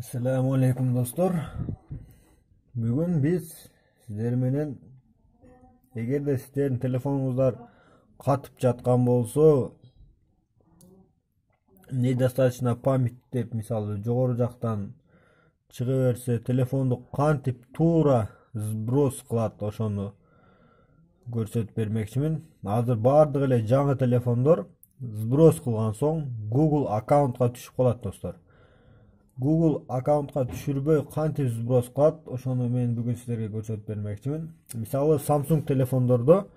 Assalamu alaikum dostlar. Bugün biz sizler menен эгерде сиздердин телефонуңуздар катып жаткан болсо, недостаточно память деп мисалы жогору жактан чыга берсе, телефонду кантип туура сброс кылат, ошону көрсөтүп бермекчимин. Азыр баардык эле жаңы телефондор сброс кылган соң Google аккаунтка түшүп калат достор. Google аккаунтка түшүрбөй кантип сброс кылат, ошону мен бүгүн сиздерге көрсөтүп бермекчимин. Мисалы Samsung телефондордо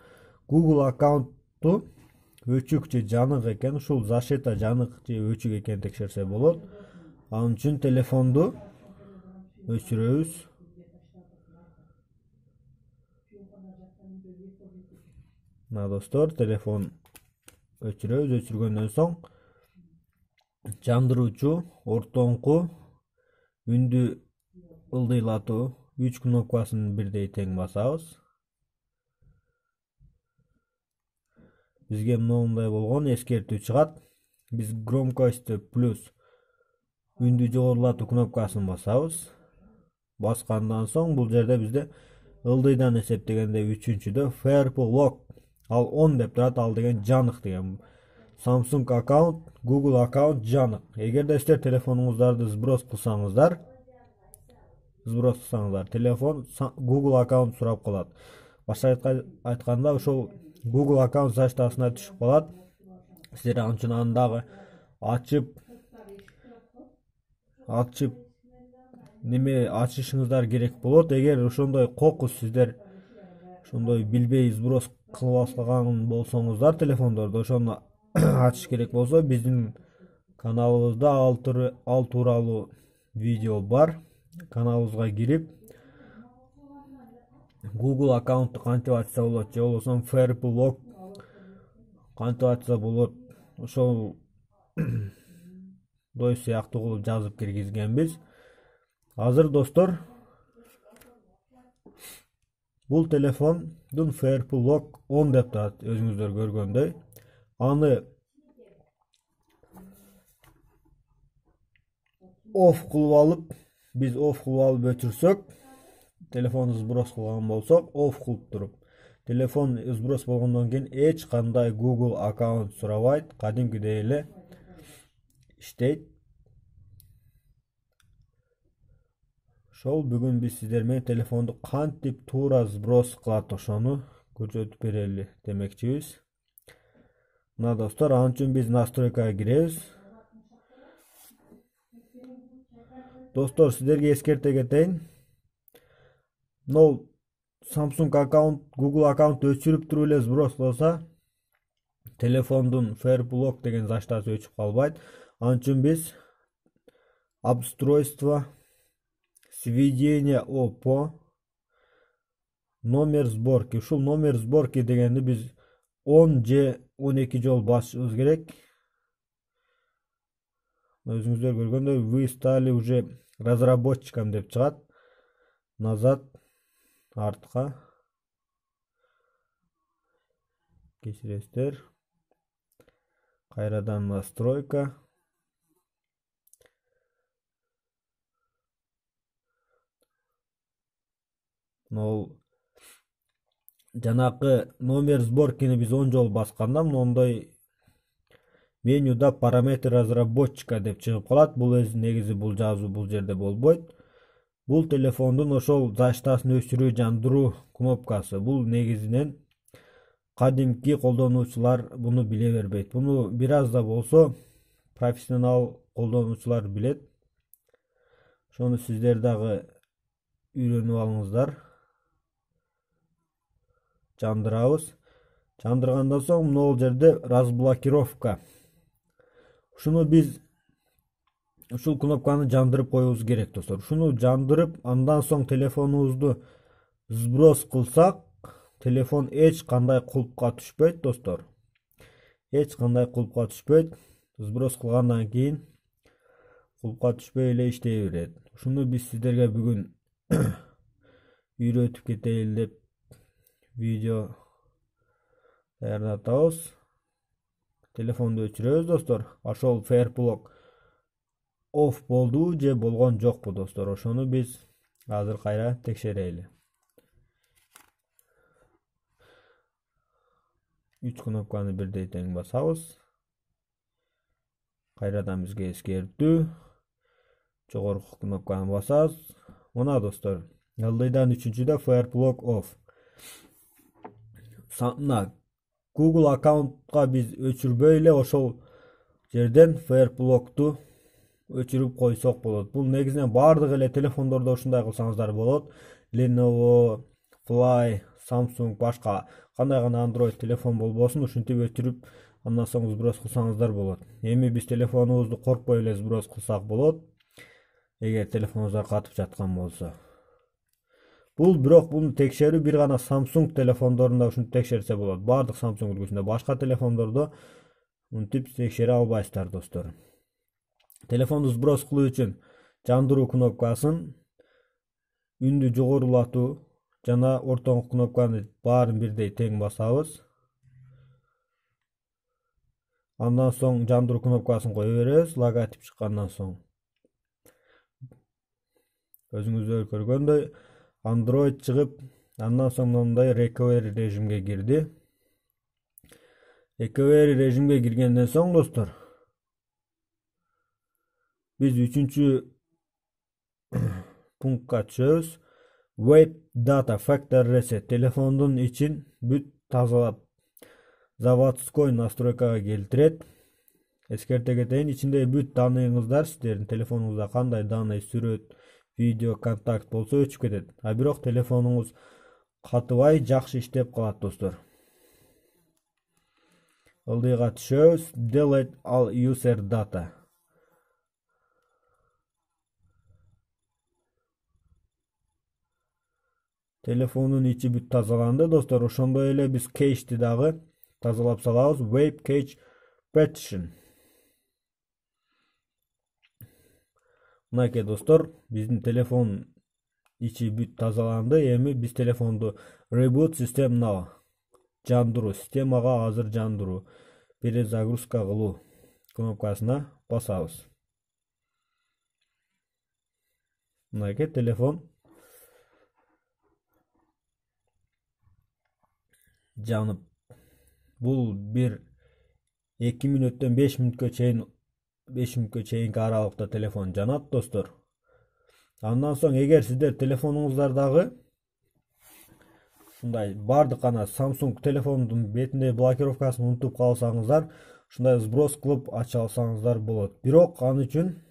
Google аккаунтту өчүк же жанык экен, ушул защита жанык же өчүк экенин текшерсе болот. Ал үчүн телефонду өчүрөбүз. Мына достор, телефон өчүрөбүз. Өчүргөндөн соң жандыруучу, ортоңку, үндү ылдыйлатуу 3 кнопкасын бирдей тең басабыз. Бизге моундай болгон эскертүү чыгат. Биз громкости плюс үндү жогорулатуу кнопкасын басабыз. Баскандан соң бул жерде бизде ылдыйдан эсептегенде 3-чүдө Purple Lock ал 10 деп турат, ал деген жанык деген. Samsung аккаунт, Google аккаунт жанык. Эгерде сиздер телефонуңуздарды сброс кылсаңыздар, телефон Google аккаунт сурап калат. Башка айтканда, ошол Google аккаунт защитасына түшүп калат. Сиздер ал үчүн аны дагы ачышыңыздар керек болот. Эгер ошондой кокус сиздер ошондой билбей сброс кылып алган болсоңуздар телефондорду, ошону ачыш керек болсо, биздин каналыбызда ал тууралуу видео бар. Каналыбызга кирип Google аккаунтту кантип ачса болот, же болбосо Purple Lock кантип ачса болот, ошол дой сыяктуу кылып жазып киргизгенбиз. Азыр достор, бул телефондун Purple Lock 10 деп турат, өзүңүздөр көргөндөй. Аны off кылып алып, биз off кылып алып өчүрсөк, телефонду сброс кылган болсок, off кылып туруп, телефон сброс болгондон кийин эч кандай Google аккаунт сурабайт, кадимкидей эле иштейт. Ошол бүгүн биз сиздер менен телефонду кантип туура сброс кылат, ошону көрсөтүп берели демекчибиз. Мына достор, ал үчүн биз настройкага киребиз. Достор, сиздерге эскерте кетейин. Мол Samsung аккаунт, Google аккаунт өчүрүп туруп эле сброс кылса, телефондун Purple Lock деген защитасы өчүп калбайт. Ал үчүн биз обустройство, сведение ОПО, номер сборки. Ушул номер сборки дегенди биз 10 же 12 жол басышыбыз керек. Өзүңүздөр көргөндөй, вы стали уже разработчиком деп чыгат. Назад, артка кечиресиздер. Кайрадан настройка. Жанакы номер сборкини биз 10 жол басканда, мондой менюда параметр разработчика деп чыгып калат. Бул негизи бул жазуу бул жерде болбойт. Бул телефондун ошол защитасын өчүрүү, жандыруу кнопкасы. Бул негизинен кадимки колдонуучулар буну биле бербейт. Буну бир аз да болсо профессионал колдонуучулар билет. Ошону сиздер дагы үйрөнүп алыңыздар. Жандырабыз. Жандыргандан соң могул жерде разблокировка. Ушуну биз ушул кнопканы жандырып коюбуз керек достор. Ушуну жандырып, андан соң телефонубузду сброс кылсак, телефон эч кандай кулпка түшпөйт достор. Эч кандай кулпка түшпөйт. Сброс кылгандан кийин кулпка түшпөй эле иштей берет. Ушуну биз сиздерге бүгүн үйрөтүп кетейин деп видео даярдатабыз. Телефонду өчүрөбүз достор. Ошол Purple Lock off болду же болгон жокпу достор, ошону биз азыр кайра текшерели. 3 кнопканы бирдей тең басабыз. Кайрадан бизге эскертүү. Жогорку кнопканы басабыз. Мына достор, ылдыйдан 3-да Fireplug off. Мына Google аккаунтка биз өчүрбөй эле ошол жерден Fireplug'ту өчүрүп койсок болот. Бул негизинен бардык эле телефондордо ушундай кылсаңыздар болот. Lenovo, Fly, Samsung, башка кандай гана Android телефон болбосун ушинтип өчүрүп андан соң сброс кылсаңыздар болот. Эми биз телефонубузду коркпой эле сброс кылсак болот, эгер телефонуңуздар катып жаткан болсо. Бирок буну текшерүү бир гана Samsung телефондорунда ушинтип текшерсе болот. Бардык Samsung үлгүсүндө, башка телефондордо мынтип текшере албайсыздар достор. Телефонду сброс кылуу үчүн жандыруу кнопкасын, үндү жогорулатуу жана ортоңку кнопканы баарын бирдей тең басабыз. Андан соң жандыруу кнопкасын кое беребиз, логотип чыккандан соң. Өзүңүздөр көргөндөй Android чыгып, андан соң мындай recovery режимге кирди. Recovery режимге киргенден соң достор, биз 3-чү пунктка түшөбүз. Wipe data factory reset, телефондун ичин бүт тазалап заводской настройкага келтирет. Эскерте кетейин, ичиндеги бүт данныйыңыздар, сиздердин телефонуңузда кандай данный, сүрөт, видео, контакт болсо өчүп кетет. А бирок телефонуңуз катыбай жакшы иштеп калат достор. Ылдыйга түшөбүз. Delete all user data. Телефонун ичи бүт тазаланды достор. Ошондой эле биз кэшти дагы тазалап салабыз. Wipe cache partition. Мынакей достор, биздин телефон ичи бүт тазаланды. Эми биз телефонду reboot system now, жандыруу, системага азыр жандыруу, перезагрузка кылуу кнопкасына басабыз. Мынакей телефон жанып. Бул бир 2 мүнөттөн 5 мүнөткө чейинки аралыкта телефон жанат достор. Андан соң эгер сиздер телефонуңуздардагы ушундай бардык гана Samsung телефондун бетинде блокировкасын унутуп калсаңыздар, ушундай сброс кылып ача алсаңыздар болот. Бирок ал үчүн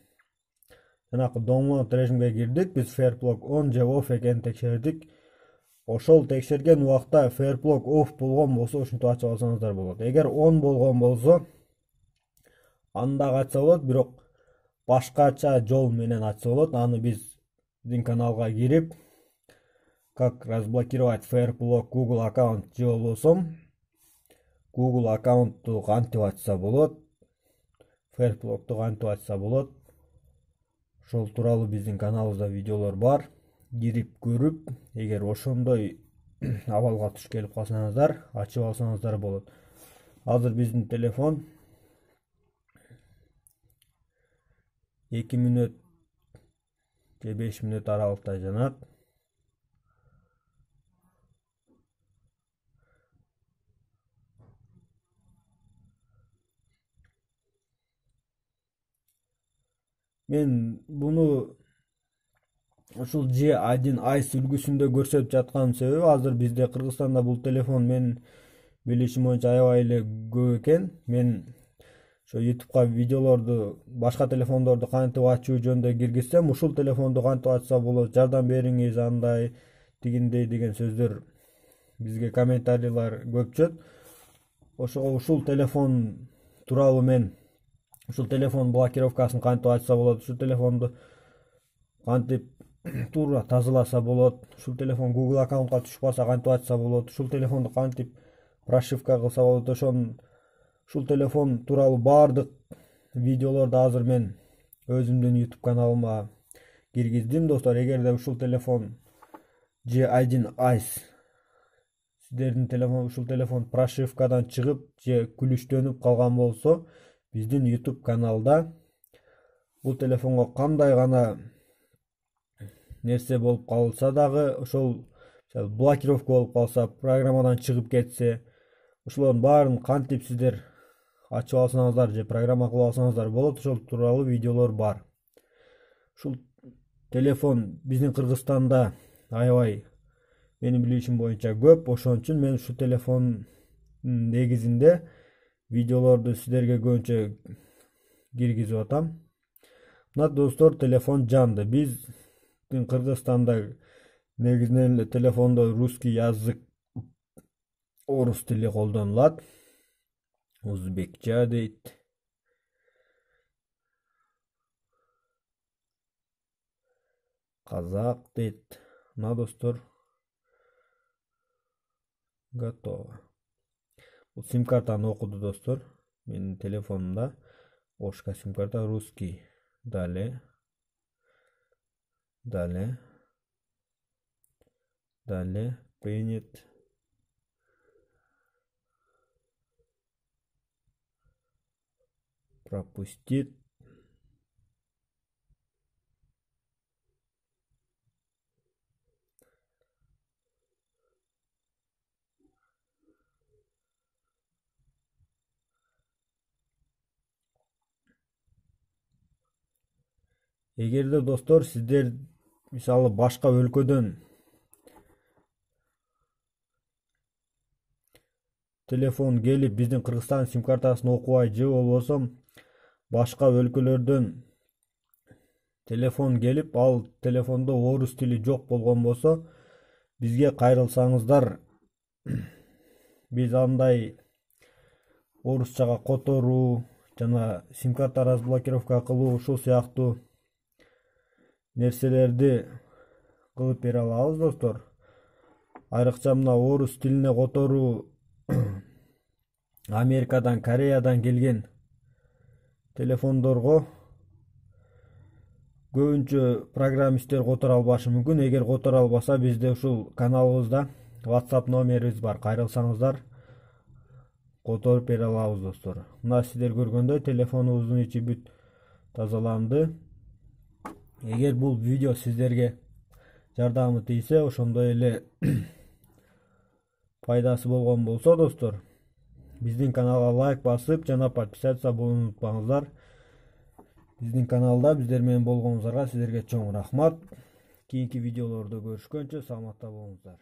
жанакы download режимге кирдик, биз Fireplug on же off экенин текшердик. Ошол текшерген убакта Fireplug off болгон болсо ушинтип ачып алсаңыздар болот. Эгер on болгон болсо анда ачса болот, бирок башкача жол менен ачса болот. Аны биздин каналга кирип, как разблокировать Fireplug Google аккаунт же болбосо Google аккаунтту кантип ачса болот, Fireplug'ту кантип ачса болот, ошол тууралуу биздин каналыбызда видеолор бар. Кирип көрүп, эгер ошондой абалга туш келип калсаңыздар, ачып алсаңыздар болот. Азыр биздин телефон 2 мүнөт же 5 мүнөт аралыкта жанат. Мен буну ушул G1 Ice үлгүсүндө көрсөтүп жатканын себеби, азыр бизде Кыргызстанда бул телефон менин билишим боюнча аябай эле көп экен. Мен ошо YouTube'га видеолорду, башка телефондорду кантип ачуу жөнүндө киргизсем, ушул телефонду кантип ачса болот, жардам бериңиз, андай, тигиндей деген сөздөр бизге комментарийлар көп түшөт. Ошого ушул телефон тууралуу мен ушул телефон блокировкасын кантип ачса болот, ушул телефонду кантип туура тазаласа болот, ушул телефон Google аккаунтка түшпаса кантип ачса болот, ушул телефонду кантип прошивка кылса болот, ушул телефон тууралуу бардык видеолорду азыр мен өзүмдүн YouTube каналыма киргиздим достор. Эгерде ушул телефон G1 Ice сиздердин телефон ушул телефон прошивкадан чыгып же күлүштөнүп калган болсо, биздин YouTube каналда бул телефонго кандай гана нерсе болуп калса дагы, ошол блокировка болуп калса, программадан чыгып кетсе, ошолордун баарын кантип сиздер ачып алсаңыздар же программа кылып алсаңыздар болот. Ошол тууралуу видеолор бар. Ушул телефон биздин Кыргызстанда аябай, менин билишим боюнча көп. Ошон үчүн мен ушул телефондун негизинде видеолорду сиздерге көбүнчө киргизип атам. Мына достор, телефон жанды. Биздин Кыргызстанда негизинен эле телефондо русский язык, орус тили колдонулат. Узбекча дейт. Казак дейт. Мына достор, готово. Бул сим-картаны окуду достор. Менин телефонумда ошка сим-карта, русский. Далее. Принят. Пропустит. Эгерде достор сиздер мисалы башка өлкөдөн телефон келип биздин Кыргызстан сим-картасын окубай, же болбосо башка өлкөлөрдөн телефон келип, ал телефондо орус тили жок болгон болсо, бизге кайрылсаңыздар, биз андай орусчага которуу жана сим-карта разблокировка кылуу, ушул сыяктуу нерселерди кылып бере алабыз достор. Айрыкча мына орус тилине которуу Америкадан, Кореядан келген телефондорго көбүнчө программисттер которо албашы мүмкүн. Эгер которо албаса, бизде ушул каналыбызда WhatsApp номерибиз бар. Кайрылсаңыздар, которуп бере алабыз достор. Мына сиздер көргөндөй телефонубуздун ичи бүт тазаланды. Эгер бул видео сиздерге жардамы тийсе, ошондой эле пайдасы болгон болсо достор, биздин каналга лайк басып жана подписаться болууну унутпаңыздар. Биздин каналда биздер менен болгонуңуздарга сиздерге чоң рахмат. Кийинки видеолордо көрүшкөнчө саламатта болуңуздар.